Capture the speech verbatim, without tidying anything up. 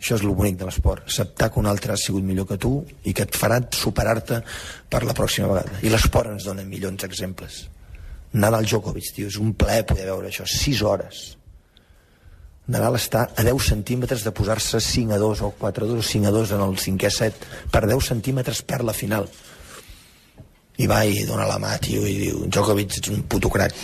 Això és el bonic de l'esport, acceptar que un altre ha sigut millor que tu i que et farà superar-te per la pròxima vegada. I l'esport ens dona milions d'exemples. Nadal Djokovic, tio, és un plaer poder veure això, sis hores. Nadal està a deu centímetres de posar-se cinc a dos o quatre a dos o cinc a dos en el cinquè set. Per deu centímetres perd la final. I va i dona la mà, tio, i diu, Djokovic ets un puto crac.